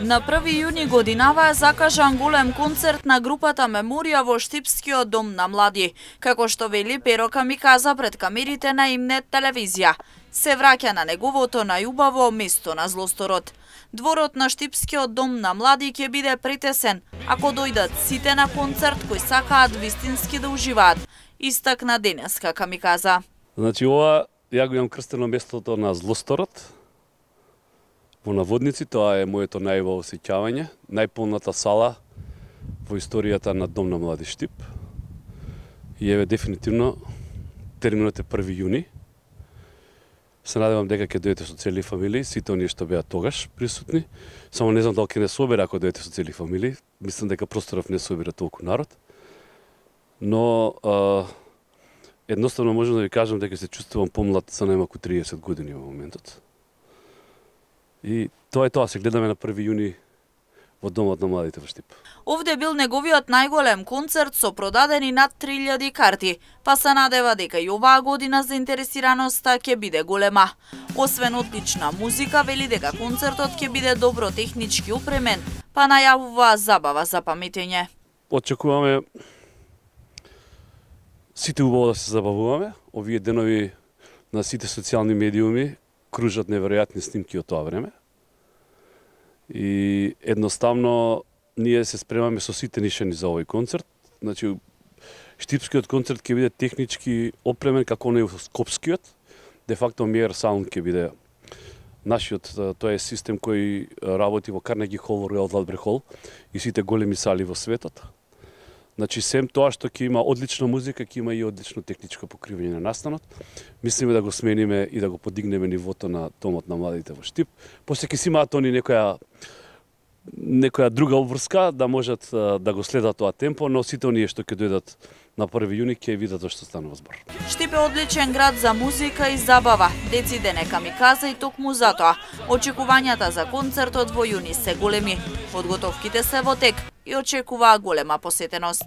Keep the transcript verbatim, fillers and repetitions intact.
На први јуни годинава е закажан голем концерт на групата Меморија во Штипскиот дом на млади, како што вели Перо Камиказа пред камерите на Имнет телевизија. Се враќа на неговото најубаво место на Злосторот. Дворот на Штипскиот дом на млади ќе биде претесен ако дојдат сите на концерт кои сакаат вистински да уживаат, истакна денеска Камиказа. Значи ова ја го имам крстено местото на Злосторот. Во наводници тоа е моето најубаво сеќавање, најполната сала во историјата на Дом на млади Штип. И еве дефинитивно терминот е први јуни. Се надевам дека ќе дојдете со цели фамилии, сите оние што беа тогаш присутни. Само не знам дали ќе не собере ако дојдете со цели фамилии. Мислам дека просторов не собира толку народ. Но а, едноставно можам да ви кажам дека се чувствувам помлад за најмалку триесет години во моментот. И тоа е тоа, се гледаме на први јуни во Домот на младите во Штип. Овде бил неговиот најголем концерт со продадени над три илјади карти, па се надева дека и оваа година заинтересираноста ќе биде голема. Освен одлична музика, вели дека концертот ќе биде добро технички опремен, па најавува забава за паметење. Очекуваме сите убаво да се забавуваме. Овие денови на сите социјални медиуми кружат неверојатни снимки од тоа време. И едноставно ние се спремаме со сите нишани за овој концерт. Значи Штипскиот концерт ќе биде технички опремен како оној Скопскиот. Де факто Миер Саунд ќе биде нашиот, тоа е систем кој работи во Карнеги Хол, Ројал Далбрек Хол и сите големи сали во светот. Значи, сем тоа што ќе има одлична музика, ќе има и одлично техничко покривање на настанот. Мислиме да го смениме и да го подигнеме нивото на Домот на младите во Штип. После ќе си имаат они некоја некоја друга обврска да можат да го следат тоа темпо, но сите оние што ќе дојдат на први јуни ќе видат што станува збор. Штип е одличен град за музика и забава. Дециден е Камиказа и токму затоа. Очекувањата за концертот во јуни се големи. Подготовките се во тек и очекуваа голема посетеност.